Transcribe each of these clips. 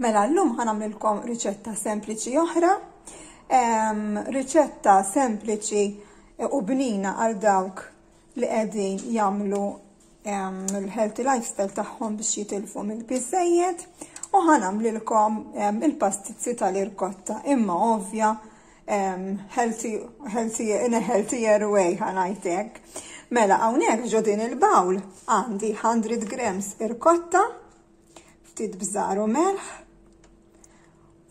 Mela llum ħa nagħmlilkom riċetta sempliċi oħra. Riċetta sempliċi u bnina għal dawk li qegħdin jagħmlu il-healthy lifestyle tagħhom biex jitilfu mill-piżejjed u ħa nagħmlilkom il-pastizzi tal-irkotta imma ovvja healthy, healthy, in a healthier way ħa ngħid hekk. Mela hawnhekk ġo din il-bawl għandi 100 grams irkotta, ftit bżar u melħ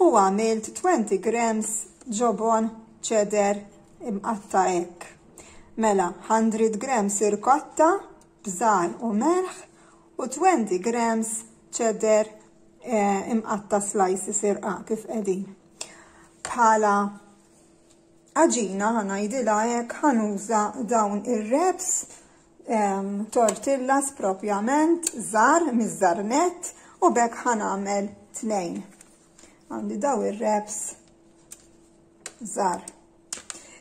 u għamilt 20 grams ġobon cheddar imqatta' hekk. Mela 100 grams irkotta, bżar u melħ u 20 grams cheddar eh, imqatta slices irqaq kif qegħdin. Bħala għaġina ħanajdilha hekk ħanuża dawn ir-wraps tortillas propjament żgħar miż-żgħar nett u b'hekk ħanagħmel tnejn. Għandi daw ir-wraps żgħar.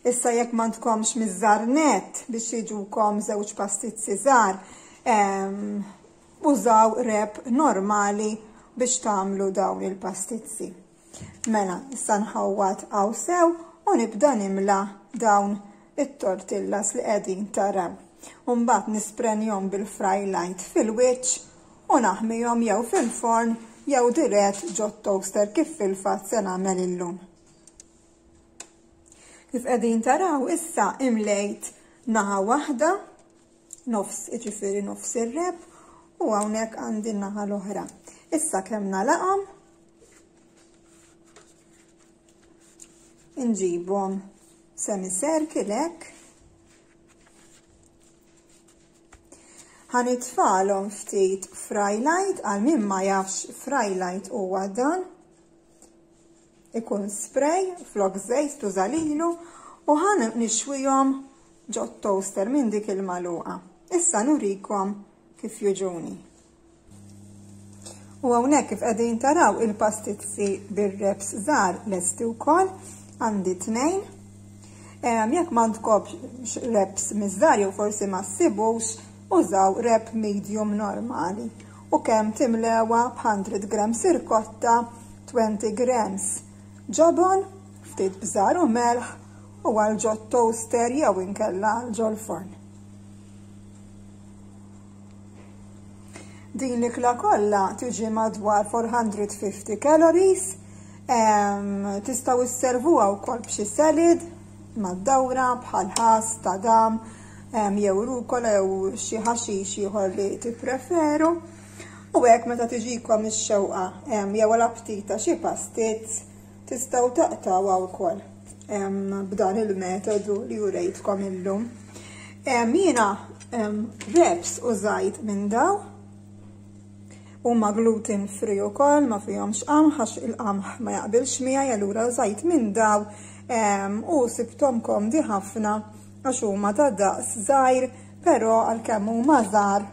Issa jekk m'għandkomx miż-żgħar nett biex jiġukom żewġ pastizzi żgħar, użaw wrap normali biex tagħmlu dawn il-pastizzi. Mela, issa nħawwad hawn sew u nibda nimla dawn it-tortillas li qegħdin taraw. U mbagħad nisprenjhom bil-fry light fil-wiċċ u naħmihom jew fil-forn jew dirett ġot-toaster kif fil-fatt se nagħmel illum. Kif qegħdin taraw issa imlejt naħa waħda, nofs jiġifieri nofs ir-wrap u hawnhekk għandi n-naħa l-oħra. Issa kemm nagħlaqhom Inġibhom semicircle hekk. Ħanitfalhom ftit fry light għal min ma jafx fry light huwa dan. Ikun spray flok żejt tuża lilu u ħan nixwihom ġot toaster minn dik il-magħluqa. Issa nurikom kif jiġuni. U hawnhekk kif qegħdin taraw il-pastizzi bir-wraps żgħar lesti wkoll, għandi tnejn. Jekk m'għandkomx wraps miż-żgħar jew forsi ma ssibux, użaw wrap medium normali. U kemm timlewha b'100 grams irkotta, 20 grams ġobon, ftit bżar u melħ u għal ġot toaster jew inkella għal ġol-forn. Din l-ikla kollha tiġi madwar 450 calories. Tistgħu sservuha wkoll b'xi salad mad-dawra bħal ħass, tadam, jew rukola jew xi ħaxix ieħor li tippreferu. U hekk meta tiġikom ix-xewqa jew l-aptit ta' xi pastizz tistgħu taqtgħuha wkoll b'dan il-metodu li urejtkom illum. Jiena wraps użajt minn daw. Huma gluten free ukoll, ma fihomx qamħ għax il-qamħ ma jaqbilx miegħi, allura użajt minn daw u sibthom komdi ħafna għax huma ta' daqs żgħir, però għalkemm huma żgħar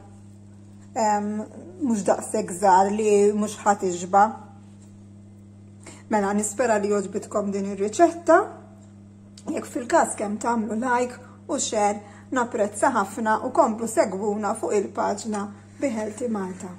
mhux daqshekk żgħar li mhux ħa tixba'. Mela nispera li għoġbitkom din ir-riċetta. Jekk fil-każ kemm tagħmlu like u share napprezza ħafna u komplu segwuna fuq il-paġna Be Healthy Malta.